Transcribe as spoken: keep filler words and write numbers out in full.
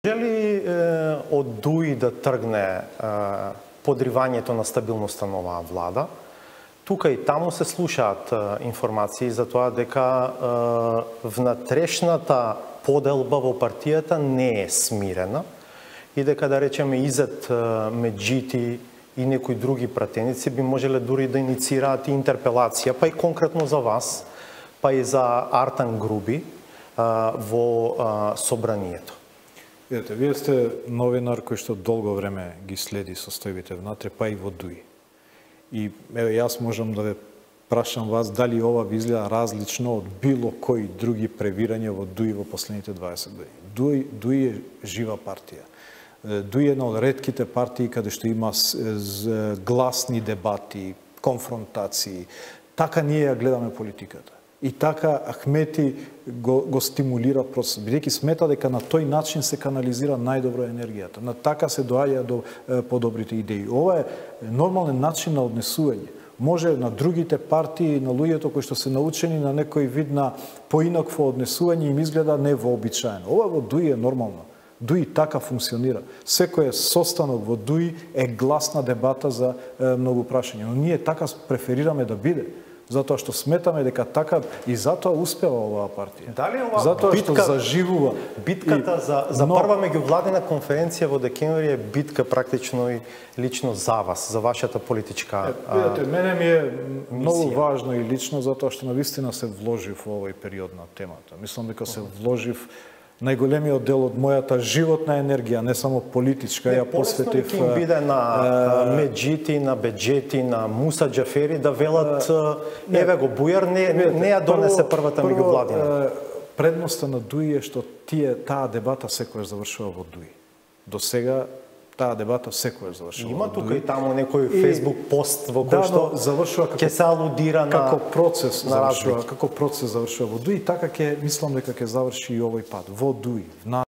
Жели е, од Дуи да тргне е, подривањето на стабилноста на оваа влада. Тука и таму се слушаат е, информации за тоа дека е, внатрешната поделба во партијата не е смирена и дека, да речеме, Изет Меджити и некои други пратеници би можеле дури да инициираат и интерпелација, па и конкретно за вас, па и за Артан Груби а, во а, собранието. Видете, вие сте новинар кој што долго време ги следи состојбите внатре, па и во Дуи. И еве, јас можам да ве прашам вас дали ова ви изгледа различно од било кои други превирања во Дуи во последните дваесет години. Дуи, Дуи е жива партија. Дуи е една од ретките партии каде што има гласни дебати, конфронтации. Така ние ја гледаме политиката. И така Ахмети го, го стимулира процес, бидејќи смета дека на тој начин се канализира најдобро енергијата. На така се доаѓа до е, подобрите идеи. Ова е нормален начин на однесување. Може на другите партии, на луѓето кои што се научени на некој вид на поинакво однесување им изгледа невообичаено. Ова во Дуи е нормално. Дуи така функционира. Секој состанок во Дуи е гласна дебата за е, многу прашања. Но ние така преферираме да биде. Затоа што сметаме дека така и затоа успева оваа партија. Дали ова затоа битка, што заживува. Битката и, за, за но, прва меѓувладина конференција во декември е битка практично и лично за вас, за вашата политичка е, видите, мене ми е многу мисија. важно и лично затоа што навистина се вложив во овој период на темата. Мислам дека се вложив најголемиот дел од мојата животна енергија, не само политичка, ја посветив. Не, биде на uh, Меджити, на Беджети, на Муса Џафери да велат uh, еве го Бујар не, не, не ја донесе првата меѓувладина. Предноста на Дуи е што тие таа дебата секојаш завршува во Дуи. До сега таа дебата секојаш завршува. Има тука и таму некој Facebook пост во кој да, што завршува како ќе се алудира на како процес на завршува, како процес завршува во Дуи, така ќе мислам дека ќе заврши и овој пат во Дуи.